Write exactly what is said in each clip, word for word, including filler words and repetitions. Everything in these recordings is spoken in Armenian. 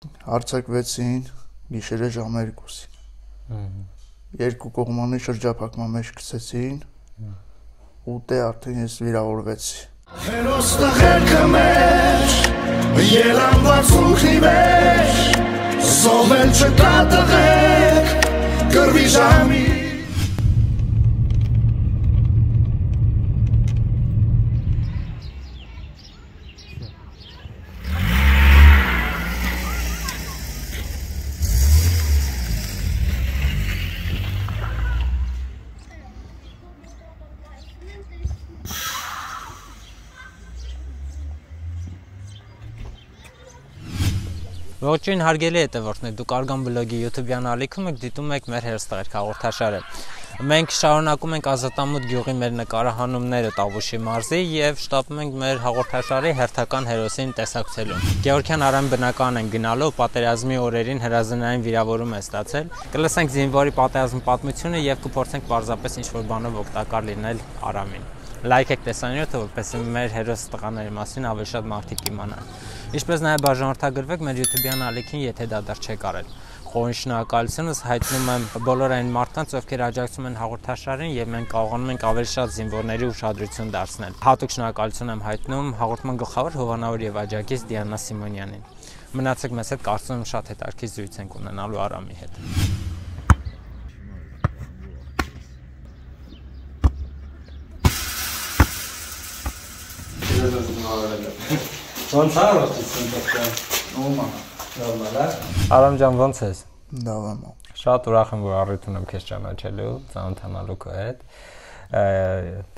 Արձակվեցին գիշերը ժամը երկուսին։ Երկու կողմանի շրջափակման մեջ գցեցին ու դե արդեն ես վիրավորվեցի։ Հերոսը հերքը մեջ, ելանված ուղի մեջ, զովել չկա տղեք, կրվի ժամի։ Ողջույն հարգելի հետևորդներ, դուք Արգան բլոգի YouTube-յան ալիքում եք դիտում եք մեր հերոստղերք հաղորդաշարը։ Մենք շարունակում ենք Ազատամուտ գյուղի մեր նկարահանումները Տավուշի մարզի եւ շտապում ենք մեր հաղորդաշարի հերթական հերոսին տեսակցելու։ Գևորգյան Արամ բնական են գնալու պատերազմի օրերին հրազենային վիրավորում է ստացել։ Կլսենք զինվորի պատերազմի պատմությունը եւ կփորձենք պարզապես ինչ-որ բանով օգտակար լինել Արամին։ Լայք եք տեսանյութը, որպեսզի մեր հերոս տղաների մասին ավելի շատ մարդիկ իմանան։ Ինչպես նաև բաժանորդագրվեք մեր YouTube-յան ալիքին, եթե դա դեռ չեք արել։ Խորին շնորհակալությունս հայտնում եմ բոլոր այն մարդկանց, ովքեր աջակցում են հաղորդաշարին եւ մենք կարողանում ենք ավելի շատ զինվորների ուշադրություն դարձնել։ Հատուկ շնորհակալություն եմ հայտնում հաղորդման գլխավոր հովանավոր եւ աջակից Դիանա Սիմոնյանին։ Մնացեք մեզ հետ, կարծում եմ շատ հետաքրքիր զրույց ենք ունենալու Արամի հետ։ Ոնց արարեցին դեպքում։ Նոմա։ Նորմալ է։ Արամ ջան, ոնց ես։ Լավ եմ։ Շատ ուրախ եմ, որ առիթ ունեմ քեզ ճանաչելու, ծանոթանալու քո հետ։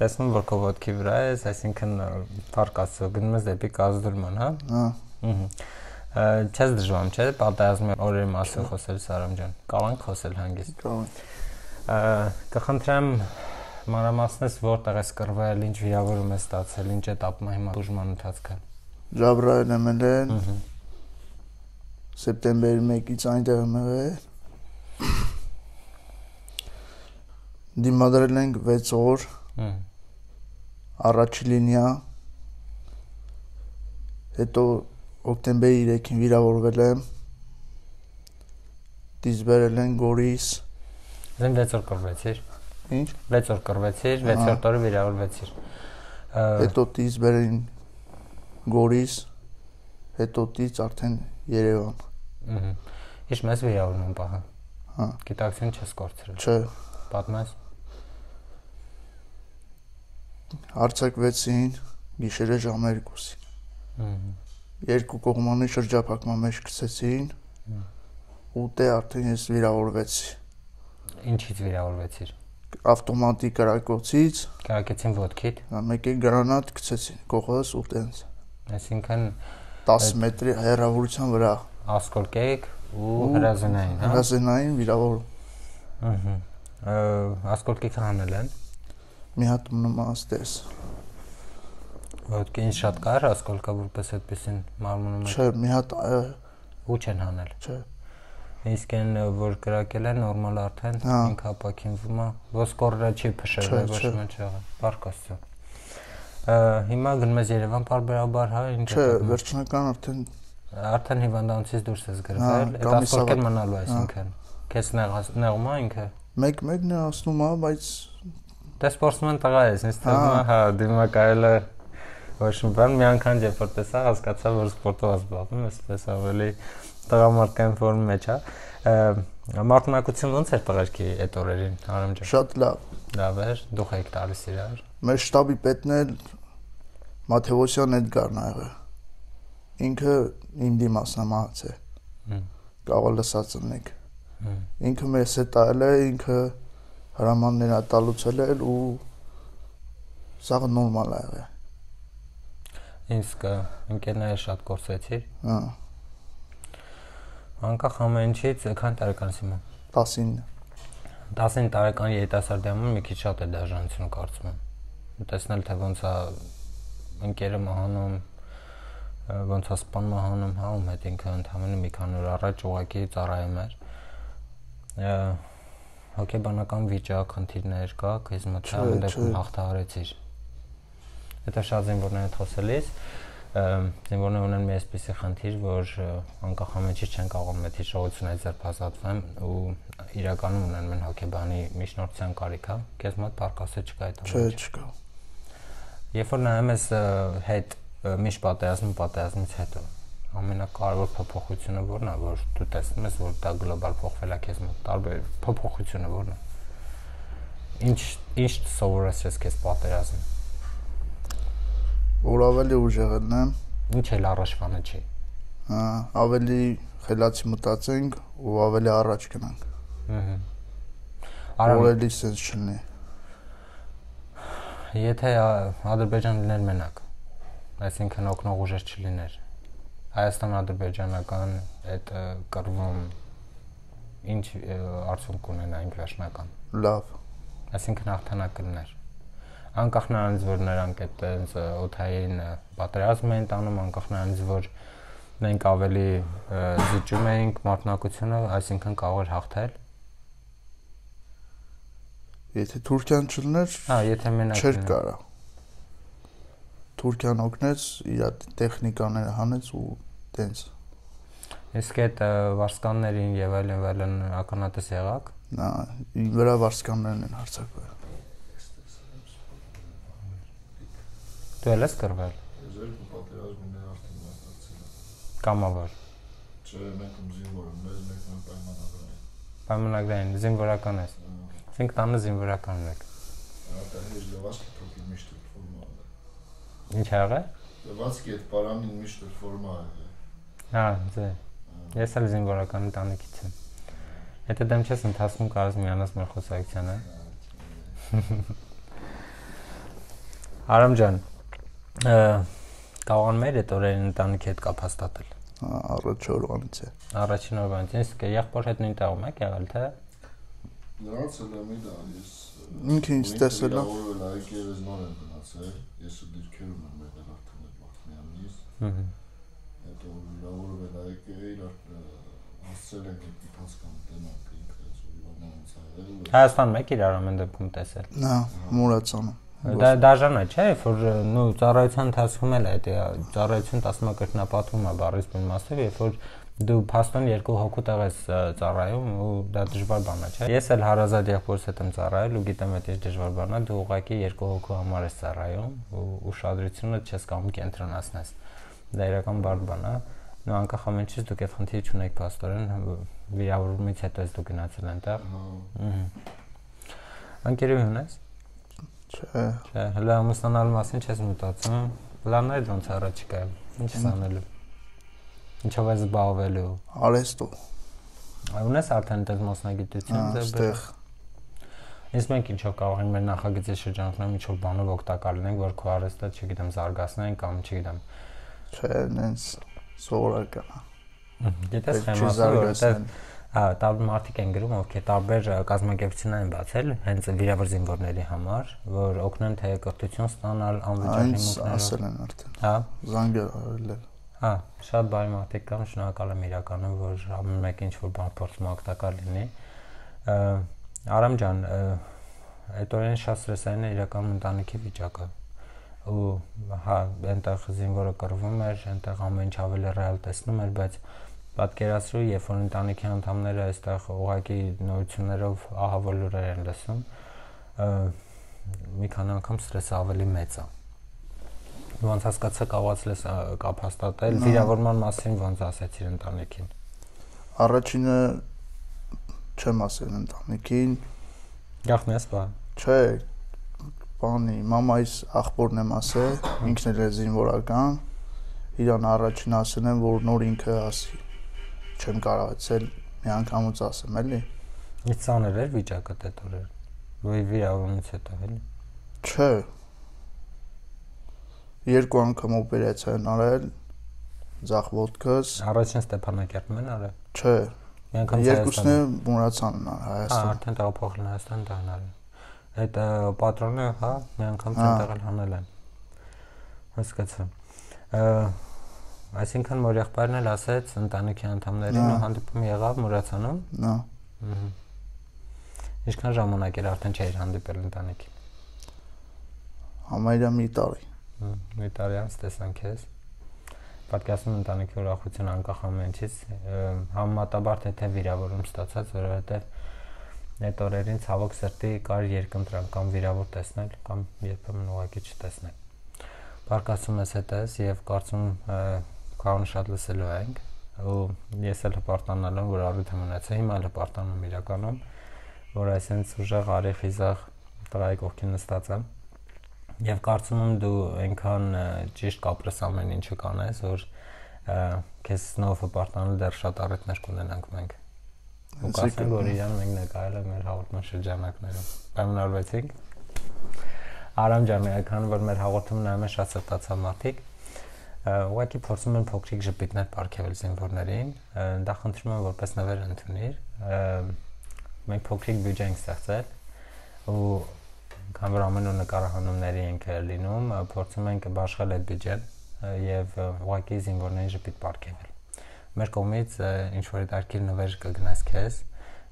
Տեսնում որ քո ոտքի վրա ես, այսինքն փառք Աստծո, գնում ես դեպի կազդուրման, հա։ Հա։ Չես դժվարում, չէ՞, պատերազմի օրերի մասին խոսել Արամ ջան։ Կարողանք խոսել հանգիստ։ Կարող։ Կխնդրեմ մանրամասնես որտեղ ես կռվել, ինչ վիրավորում ես ստացել, ինչ էտապում է հիմա բուժման ընթացքը։ Ժաբրայել եմ ելել, սեպտեմբերի մեկից այնտեղ եմ եղել, դիմադրել ենք վեց օր, առաջի լինիա, հետո օկտեմբերի երեքին վիրավորվել եմ, դիզբերել են Գորիս։ Զեն վեց օր կռվեցիր։ Ինչ։ վեց օր կռվեցիր, վեցորդ օրը վիրավորվեցիր։ Հետո դիզբերին Գորիս, հետո դից արդեն Երևան։ Ինչ մեզ վիրավորում պահը։ Հա։ Գիտակցություն չես կորցրել։ Չէ։ Պատմես։ Արձակվեցին գիշերը ժամը երկուսին։ Երկու կողմանի շրջափակման մեջ գցեցին ու դե արդեն ես վիրավորվեցի։ Ինչից վիրավորվեցիր։ Ավտոմատիկ կրակոցից Կրակեցին ոտքիդ։ Մեկ է գրանատ գցեցին կողոս ու տենց։ Այսինքն տասը մետրի հեռավորության վրա ասկոլկեկ ու հրազենային, հա։ Հրազենային վիրավոր։ Ահա։ Ասկոլկեքը հանել են։ Մի հատ նոմաստես։ Ոտքին շատ կար ասկոլկա որպես այդպեսին մարմնում է։ Չէ, մի հատ ու չեն հանել։ Չէ։ Իսկ այն որ կրակել են նորմալ արդեն ինքը ապակինվում է, ոսկորը չի փշել, ոչ մի չեղա։ Փառք Աստծո։ Հիմա գնում ես Երևան պարբերաբար, հա, ինչ է։ Չէ, վերջնական արդեն արդեն հիվանդանոցից դուրս ես գրվել, այդ ասկոլկեն մնալու այսինքն։ Քեզ նեղում է ինքը։ Մեկ-մեկն է ասում է, բայց դե սպորտսմեն տղա ես, ինձ թվում է, հա, դիմակայելը ոչ մի բան, մի անգամ երբ որ տեսա, հասկացա, որ սպորտով զբաղվում եմ, այսպես ավելի տղամարդկային ֆորմի մեջ, հա։ Մարտունակություն ոնց էր տղերքի այդ օրերին, Արամ ջան։ շատ լավ։ Լավ էր, դուք եք տալիս իրար։ Մեր շտաբի պետն էլ Մաթեոսյան Էդգարն ա եղել։ Ինքը իմ դիմասն է մահացել։ Կարող լսած ունեք։ Ինքը մեզ հետ այլ է, ինքը հրամաններ ա տալուցել էլ ու սա նորմալ ա եղել։ Իսկ ընկերները շատ կորցրեցիր։ Հա։ Անկախ ամեն ինչից քանի տարեկան ես հիմա։ տասինը։ տասինը տարեկան երիտասարդի համար մի քիչ շատ է դաժանություն կարծում եմ։ Տեսնել թե ոնց է ընկերը մահանում, ոնց է սպան մահանում, հա, ում հետ ինքը ընդհանրապես մի քանի օր առաջ ուղակի ծառայում էր։ Հոգեբանական վիճակ, խնդիրներ կա, քեզ մոտ ամեն դեպքում հաղթահարեցիր։ Հետո շատ զինվորներ հետ խոսելիս զինվորները ունեն մի այսպիսի խնդիր, որ անկախ ամենից չեն կարող մեծ հիշողությունից ձերբազատվեն ու իրականում ունեն մեն հոգեբանի միջնորդության կարիք, հա։ Քեզ մոտ պարկասը չկա այդ Չէ, չկա։ Երբ որ նայում ես հետ միշտ պատերազմի պատերազմից հետո ամենակարևոր փոփոխությունը ո՞րն է, որ դու տեսնում ես, որ դա գլոբալ փոխվել է քեզ մոտ, տարբեր փոփոխությունը ո՞րն է։ Ինչ ինչ սովորեցրես քեզ պատերազմը։ Որ ավելի ուժեղ եմ, ինչ էլ առաջվանը չի։ Հա, ավելի խելացի մտածենք ու ավելի առաջ գնանք։ Ահա։ Ավելի sense չլինի։ Եթե Ադրբեջան լիներ մենակ, այսինքն օգնող ուժեր չլիներ, Հայաստան-ադրբեջանական այդ կռվում ինչ արդյունք կունենայինք վերջնական։ Լավ։ Այսինքն հաղթանակ կլիներ։ Անկախ նրանից, որ նրանք այդպես օթային պատերազմ էին տանում, անկախ նրանից, որ մենք ավելի զիջում էինք մարտունակությունը, այսինքն կարող էր հաղթել։ Եթե Թուրքիան չլիներ, հա, եթե մենակ չէր կարա։ Թուրքիան օգնեց, իր տեխնիկաները հանեց ու տենց։ Իսկ այդ վարսկաններին եւ այլն այլն ականատես եղաք։ Նա վրա վարսկաններն են հարձակվել։ Դու ես կրվել։ Ձեր պատերազմին արդեն մասնակցել։ Կամավոր։ Չէ, մենք զինվոր եմ, մեզ մենք պայմանագրային։ Պայմանագրային զինվորական ես։ Ասենք տանը զինվորական եք։ Ահա հեշտ լվացքի փոքր միշտ ֆորմա է։ Ինչ ա եղել։ Լվացքի այդ պարանին միշտ ֆորմա է։ Հա, ձե։ Ես էլ զինվորական ընտանիքից եմ։ Եթե դեմ չես ընթացքում կարես միանաս մեր խոսակցությանը։ Արամ ջան, կարող մեր այդ օրերին ընտանիքի հետ կապ հաստատել։ Առաջ օրվանից է։ Առաջին օրվանից, իսկ եղբոր հետ նույն տեղում եք եղել, թե։ Նրանց էլ եմ իդա, ես ինքը ինձ տեսել է։ Որը լայք երեզման եմ գնացել, ես ու դիրքերում եմ եղել արդեն այդ Մարտունյանից։ Հհ։ Հետո լավորը լայք է իր հասցրել ենք մի փասկան տնանք ինքը զորիվանից այլ։ Հայաստանում եք իրար ամեն դեպքում տեսել։ Նա Մուրացանում։ Դա դաժան է, չէ՞, որ նու ծառայության ընթացքում էլ այդ ծառայություն տասնմակրտնապատվում է բառից բուն մասով, երբ որ դու փաստորեն երկու հոգու տեղ ես ծառայում ու դա դժվար բան է, չէ՞։ Ես էլ հարազատ եղբորս հետ եմ ծառայել ու գիտեմ այդ ինչ դժվար բան է, դու ուղղակի երկու հոգու համար ես ծառայում ու ուշադրությունը չես կարող կենտրոնացնես։ Դա իրական բարդ բան է։ Նու անկախ ամենից դուք այդ խնդիրը չունեք փաստորեն վիրավորումից հետո ես դու գնացել այնտեղ։ Ահա։ Անկերևի ունես։ Չէ։ Չէ, հələ ամուսնանալու մասին չես մտածում։ Պլաններ ոնց առաջիկա։ Ինչ ես անելու։ Ինչով ես զբաղվելու։ Արեստով։ Ունես արդեն այդպես մասնագիտություն ձեր։ Իսկ մենք ինչով կարող ենք մեր նախագծի շրջանակներում ինչ-որ բանով օգտակար լինենք, որ քո արեստը, չգիտեմ, զարգացնենք կամ չգիտեմ։ Չէ, նենց սովորական է։ Գիտես խեմասը, որտեղ հա, տարբեր մարդիկ են գրում, ովքեր տարբեր կազմակերպություններ են բացել, հենց վիրավոր զինվորների համար, որ օգնեն թե կրթություն ստանալ անվճար հիմունքներով։ Ասել են արդեն։ Հա, զանգել արել։ Հա, շատ բարի մարդիկ կան, շնորհակալ եմ իրականում, որ ամեն մեկ ինչ-որ բան փորձում օգտակար լինի։ Արամ ջան, այդ օրերին շատ ստրեսային է իրականում ընտանիքի վիճակը։ Ու հա, այնտեղ զինվորը կռվում էր, այնտեղ ամեն ինչ ավելի ռեալ տեսնում էր, բայց պատկերացրու, երբ որ ընտանիքի անդամները այստեղ ուղղակի նորություններով ահավոր լուրեր են լսում, մի քանի անգամ ստրեսը ավելի մեծ է։ Ոնց հասկացա կարողացել ես կապ հաստատել վիրավորման մասին ոնց ասեցիր ընտանիքին։ Առաջինը չեմ ասել ընտանիքին։ Գախն ես բա։ Չէ, բանի, մամայիս աղբորն եմ ասել, ինքն էլ է զինվորական, իրան առաջին ասել եմ, որ նոր ինքը ասի։ Չեմ կարողացել մի անգամից ասեմ, էլի։ Ինչ ծանր էր վիճակը այդ օրեր։ Ոյ վիրավորումից հետո էլի։ Չէ։ Երկու անգամ օպերացիա են արել ձախ ոտքս։ Առաջին Ստեփանակերտում են արել։ Չէ։ Մի անգամ երկուսն է Մուրացանն է Հայաստան։ Հա, արդեն տեղափոխել Հայաստան դառնալ։ Այդ պատրոնը, հա, մի անգամ ցենտրալ հանել են։ Հասկացա։ Այսինքն որ եղբայրն էլ ասեց ընտանիքի անդամներին ու հանդիպում եղավ Մուրացանում։ Նա։ Ահա։ Ինչքան ժամանակ էր արդեն չէր հանդիպել ընտանիքին։ Համարյա մի տարի։ Մի տարի անց տեսանք ես։ պատկասում ընտանիքի ուրախություն անկախ ամենից համեմատաբար թե թե վիրավորում ստացած, որովհետև այդ օրերին ցավոք սրտի կար երկընտրանք կամ վիրավոր տեսնել կամ երբեմն ուղղակի չտեսնել։ Բարկասում ես հետս եւ կարծում քարոն շատ լսելու ենք ու ես էլ հպարտանալ եմ, որ առիթ եմ ունեցել, հիմա էլ հպարտանում եմ իրականում, որ այսպես ուժեղ արի խիզախ տղայի կողքին նստած եմ եւ կարծում եմ դու այնքան ճիշտ կապրես ամեն ինչը կանես, որ քեզ նոր հպարտանալ դեռ շատ առիթներ կունենանք մենք։ Ու կասենք, որ իրան մենք նկարել ենք մեր հաղորդման շրջանակներում։ Պայմանավորվեցինք։ Արամ ջան, այքան որ մեր հաղորդումը նայում են շատ սրտացավ մարդիկ, ուղղակի փորձում են փոքրիկ ժպիտներ պարգևել զինվորներին, դա խնդրում եմ որպես նվեր ընդունիր։ Մենք փոքրիկ բյուջե ենք ստեղծել ու քան որ ամեն օր նկարահանումների ենք լինում, փորձում ենք բաշխել այդ բյուջեն եւ ուղղակի զինվորներին ժպիտ պարգևել։ Մեր կողմից ինչ որ դարքիր նվեր կգնաս քեզ,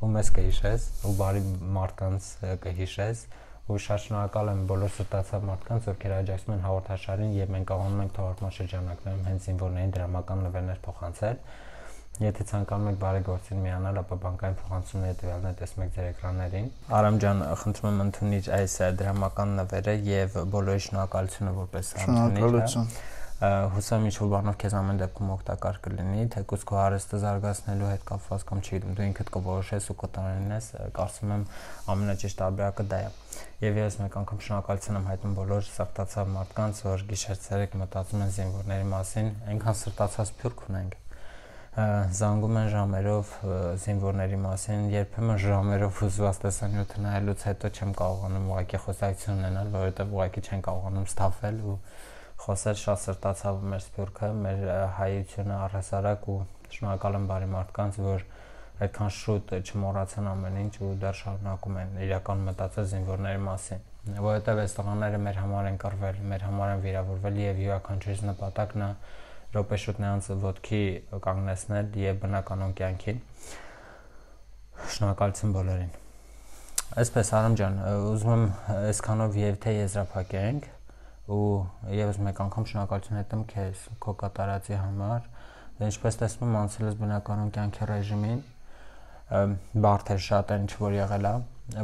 ու մեզ կհիշես, ու բարի մարդկանց կհիշես, ու շատ շնորհակալ եմ բոլոր սրտացավ մարդկանց, ովքեր աջակցում են հաղորդաշարին եւ մենք կարողանում ենք թողարկման շրջանակներում հենց զինվորներին դրամական նվերներ փոխանցել։ Եթե ցանկանում եք բարեգործին միանալ, ապա բանկային փոխանցումների տվյալները տեսնում եք ձեր էկրաններին։ Արամ ջան, խնդրում եմ ընդունիր այս դրամական նվերը եւ բոլորի շնորհակալությունը որպես Շնորհակալություն։ Հուսամ ինչ-որ բանով քեզ ամեն դեպքում օգտակար կլինի, թեկուզ քո հարստը զարգացնելու հետ կապված կամ չգիտեմ, դու ինքդ կորոշես ու կտանես, կարծում եմ ամենաճիշտ տարբերակը դա է։ Եվ ես մեկ անգամ շնորհակալություն եմ հայտնում բոլոր սրտացավ մարդկանց, որ գիշեր-ցերեկ մտածում են զինվորների մասին, այնքան սրտացած փյուրք ունենք։ Զանգում են ժամերով զինվորների մասին, երբեմն ժամերով հուզված տեսանյութը նայելուց հետո չեմ կարողանում ուղղակի խոսակցություն ունենալ, որովհետև ուղղակի չեն կարողանում ստավել ու խոսել շատ սրտացավ մեր սփյուռքը, մեր հայությունը առհասարակ ու շնորհակալ եմ բարի մարդկանց, որ այդքան շուտ չմոռացան ամեն ինչ ու դեռ շարունակում են իրական մտածել զինվորների մասին, որովհետև այս տղաները մեր համար են կռվել, մեր համար են վիրավորվել եւ յուրաքանչյուրի նպատակն է րոպե շուտ նրանց ոտքի կանգնեցնել եւ բնականon կյանքին։ Շնորհակալություն բոլորին։ Այսպես Արամ ջան, ուզում եմ այսքանով եւ թե եզրափակենք ու եւս մեկ անգամ շնորհակալություն հետեմ քեզ քո կատարածի համար։ Ինչպես տեսնում եմ, անցել ես բնականon կյանքի ռեժիմին, բարդ էր շատ այն ինչ որ եղել է,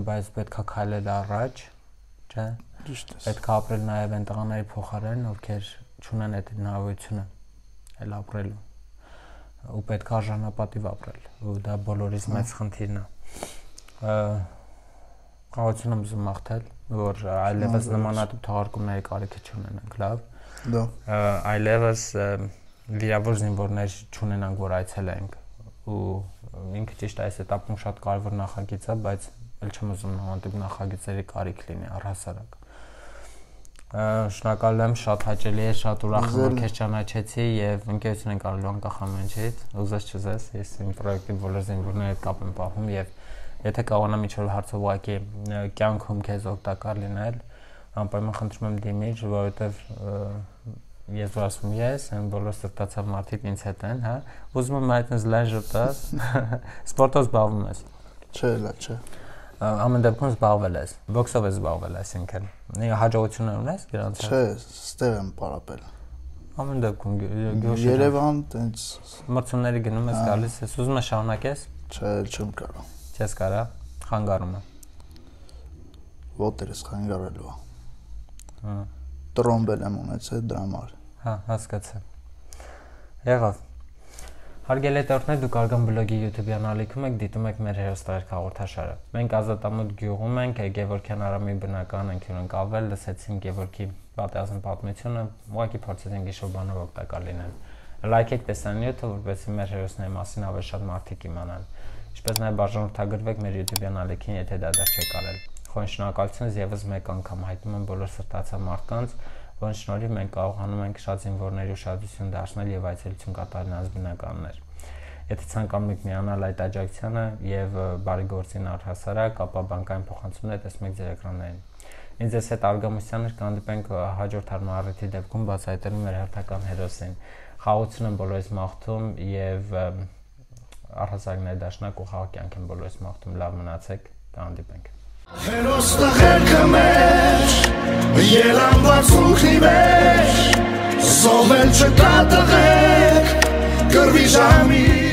բայց պետքա քայլել առաջ, չէ՞։ Ճիշտ է։ Պետքա ապրել նաեւ այն տղաների փոխարեն, ովքեր չունեն այդ հնարավորությունը էլ ապրելու ու պետք է արժանապատիվ ապրել ու դա բոլորիս մեծ խնդիրն է։ Խաղացում եմ ուզում մաղթել, որ այլևս նմանատիպ թողարկումների կարիքը չունենանք, լավ։ Դա Այլևս վիրավոր զինվորներ չունենանք, որ այցելենք ու ինքը ճիշտ այս этаպում շատ կարևոր նախագիծ է, բայց ել չեմ ուզում նմանատիպ նախագծերի կարիք լինի առհասարակ։ Շնորհակալ եմ, շատ հաճելի է, շատ ուրախ եմ, որ քեզ ճանաչեցի եւ ընկերություն ենք արելու անկախ ամենից։ Ուզես չուզես, ես իմ պրոյեկտի բոլոր զինվորների հետ կապ եմ պահում եւ եթե կարողանամ ինչ-որ հարցով ուղղակի կյանքում քեզ օգտակար լինել, անպայման խնդրում եմ դիմիր, որովհետեւ ես որ ասում ես, այն բոլոր սրտացավ մարդիկ ինձ հետ են, հա։ Ուզում եմ այդպես լայն ժպտաս, սպորտով զբաղվում ես։ չէ, լա, չէ։ Ամեն դեպքում զբաղվել ես, բոքսով ես զբաղվել, այսինքն հաջողություններ ունես դրանց։ Չէ, ստեղ եմ պարապել։ Ամեն դեպքում Երևան տենց մրցումների գնում ես, գալիս ես, ուզում ես շարունակես։ Չէ, չեմ կարող։ Չես կարա, խանգարում է։ Ոտերս խանգարելու։ Հա։ Տրոմբել եմ ունեցել դրա համար։ Հա, հասկացա։ Եղավ։ Հարգելի հետևորդներ, դուք Արգամ բլոգի YouTube-յան ալիքում եք, դիտում եք մեր հերոստարք հաղորդաշարը։ Մենք Ազատամոտ գյուղում ենք, Գևորգյան Արամի բնական ընկերուն կավել, լսեցինք Գևորգի պատերազմ պատմությունը, ուղղակի փորձեցինք ինչ-որ բանով օգտակար լինել։ Լայքեք տեսանյութը, որպեսզի մեր հերոսների մասին ավելի շատ մարդիկ իմանան։ Ինչպես նաև բաժանորդագրվեք մեր YouTube-յան ալիքին, եթե դա դեռ չեք արել։ Խորին շնորհակալություն եւս մեկ անգամ հայտնում եմ բոլոր սրտացավ մարդկանց, որոնց շնորհիվ մենք կարողանում ենք շատ զինվորների ուշադրություն դարձնել եւ այցելություն կատարել նրանց բնականներ։ Եթե ցանկանում եք միանալ այդ աջակցությանը եւ բարեգործին առհասարակ, ապա բանկային փոխանցումները տեսնում եք ձեր էկրաններին։ Ինձ էս հետ Արգամոսյաններ կհանդիպենք հաջորդ հարմարիթի դեպքում բացահայտելու մեր հերթական հերոսին։ Խաղաղություն եմ բոլորիս մաղթում եւ առհասարակ ներդաշնակ ու խաղաղ կյանք եմ բոլորիս մաղթում։ Լավ մնացեք, կհանդիպենք։ Հերոս տղերքը մեր Ելանված ուխի մեջ Զովել չկա տղեք Կրվի ժամի